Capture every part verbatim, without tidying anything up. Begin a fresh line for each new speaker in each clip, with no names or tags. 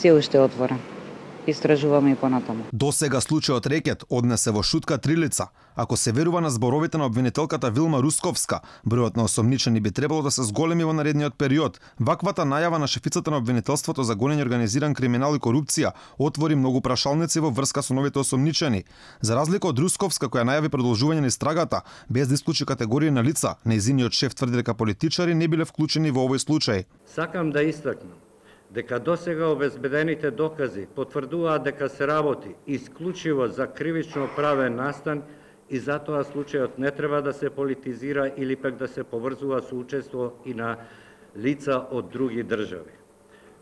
се уште е отворен. Истражуваме и понатаму.
До сега случајот Рекет однесе во шутка три лица. Ако се верува на зборовите на обвинителката Вилма Русковска, бројот на осомничени би требало да се зголеми во наредниот период. Ваквата најава на шефицата на обвинителството за гонење организиран криминал и корупција отвори многу прашалници во врска со новите осомничени. За разлика од Русковска, која најави продолжување на истрагата, без да исклучи категорија на лица, нејзиниот шеф тврди дека политичари не биле вклучени во овој случај.
Сакам да истакнам дека досега обезбедените докази потврдуваат дека се работи исклучиво за кривично правен настан и затоа случајот не треба да се политизира или пак да се поврзува со учество и на лица од други држави.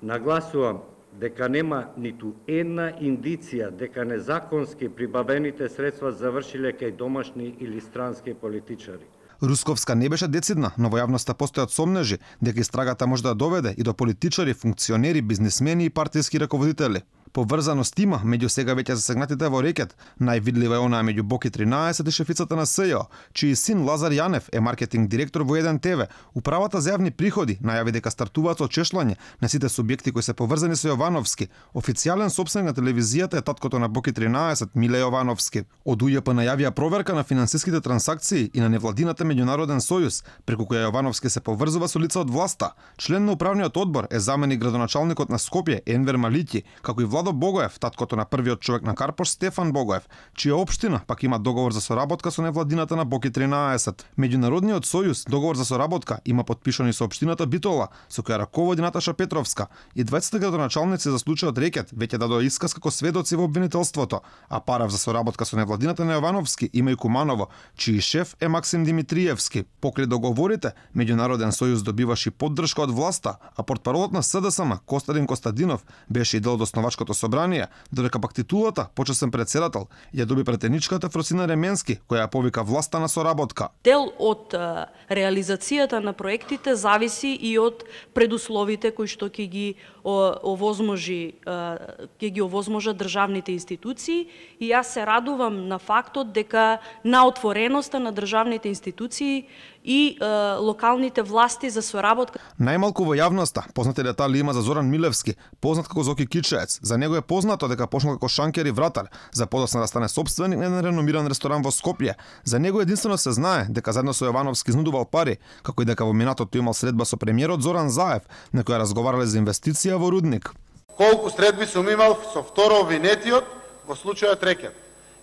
Нагласувам дека нема ниту една индиција дека незаконски прибавените средства завршиле кај домашни или странски политичари.
Русковска не беше децидна, но во јавноста постојат сомнежи дека истрагата може да доведе и до политичари, функционери, бизнисмени и партиски раководители. Поврзаност има меѓу сега веќе засегнатите во Рекет. Највидлива е онаа меѓу Боки тринаесет и шефицата на СЈО, чиј син Лазар Јанев е маркетинг директор во еден ТВ. Управата за јавни приходи најави дека стартуваат со чешлање на сите субјекти кои се поврзани со Јовановски. Официјален сопственик на телевизијата е таткото на Боки тринаесет, Миле Јовановски. Од УЈП најавија проверка на финансиските трансакции и на невладината меѓународен сојуз, преку која Јовановски се поврзува со лица од власта. Член на управниот одбор е заменик градоначалникот на Скопје Енвер Малиќи, како и Владо Богоев, таткото на првиот човек на Карпош Стефан Богоев, чија општина пак има договор за соработка со невладината на Боки тринаесет. Меѓународниот сојуз договор за соработка има подпишани со општината Битола, со која раководи Наташа Петровска, и дваесет градоначалници за случајот Рекет веќе дадоа исказ како сведоци во обвинителството, а парав за соработка со невладината на Јовановски има и Куманово, чиј шеф е Максим Димитриевски. Покрај договорите, Меѓународен сојуз добиваше поддршка од власта, а портпаролот на СДСМ Костадин Костадинов беше и дел од основачкото собрание, додека пак титулата почесен председател ја доби претеничката Фросина Ременски, која ја повика власта на соработка.
Дел од а, реализацијата на проектите зависи и од предусловите кои што ќе ги овозможи ќе ги овозможат државните институции, и јас се радувам на фактот дека на отвореноста на државните институции и е, локалните власти за соработка.
Најмалку во јавноста познати детали има за Зоран Милевски, познат како Зоки Кичеец. За него е познато дека почнал како шанкер и вратар, за подоцна да стане сопственик на еден реномиран ресторан во Скопје. За него единствено се знае дека заедно со Јовановски изнудувал пари, како и дека во минатото имал средба со премиерот Зоран Заев, на која разговарале за инвестиција во рудник.
Колку средби сум имал со второ обвинетиот во случајот Рекет?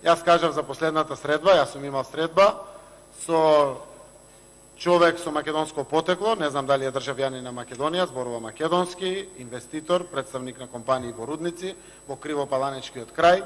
Јас кажав за последната средба, јас сум имал средба со човек со македонско потекло, не знам дали е државјанин на Македонија, зборува македонски, инвеститор, представник на компании во рудници, во Кривопаланечкиот крај,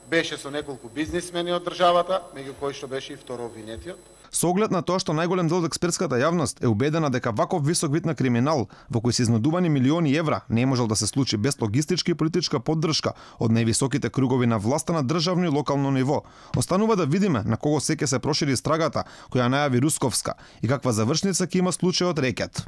беше со неколку бизнисмени од државата, меѓу кои што беше и второ обвинетиот.
Со оглед на тоа што најголем дел од експертската јавност е убедена дека ваков висок вид на криминал, во кој се изнудувани милиони евра, не можел да се случи без логистичка и политичка поддршка од највисоките кругови на власта на државно и локално ниво. Останува да видиме на кого сеќе се прошири истрагата која најави Русковска и каква завршница ќе има случајот Рекет.